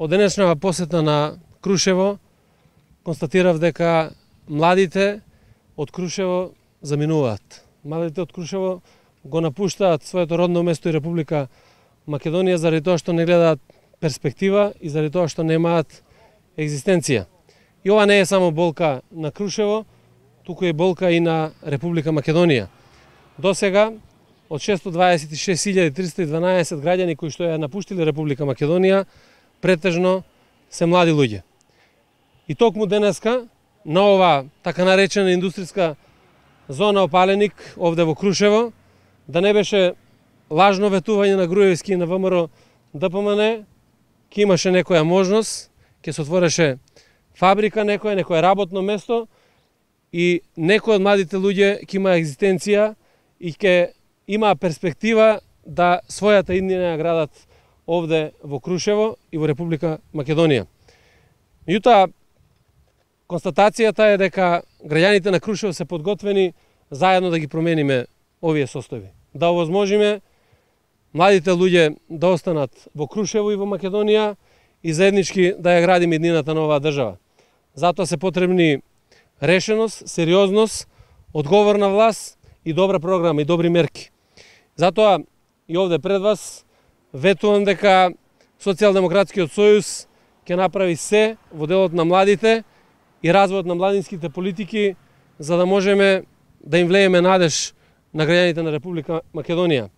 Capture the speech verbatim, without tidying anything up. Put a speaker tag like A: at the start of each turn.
A: Од денешнава посета на Крушево констатирав дека младите од Крушево заминуваат. Младите од Крушево го напуштаат своето родно место и Република Македонија заради тоа што не гледаат перспектива и заради тоа што немаат екзистенција. И ова не е само болка на Крушево, туку е болка и на Република Македонија. До сега од шестстотини дваесет и шест илјади триста и дванаесет граѓани кои што ја напуштиле Република Македонија, претежно се млади луѓе. И токму денеска на ова така наречена индустријска зона Опаленик овде во Крушево, да не беше лажно ветување на Груевски и на ВМРО Д П М Н, ќе имаше некоја можност, ќе се отвореше фабрика некоја, некоја работно место и некој од младите луѓе ќе има екзистенција и ќе има перспектива да својата иднина ја градат овде во Крушево и во Република Македонија. Меѓутоа, констатацијата е дека граѓаните на Крушево се подготвени заедно да ги промениме овие состојби. Да овозможиме младите луѓе да останат во Крушево и во Македонија и заеднички да ја градиме иднината на оваа држава. Затоа се потребни решеност, сериозност, одговорна власт и добра програма и добри мерки. Затоа и овде пред вас ветувам дека Социјалдемократскиот сојуз ќе направи се во делот на младите и развојот на младинските политики за да можеме да им влееме надеж на граѓаните на Република Македонија.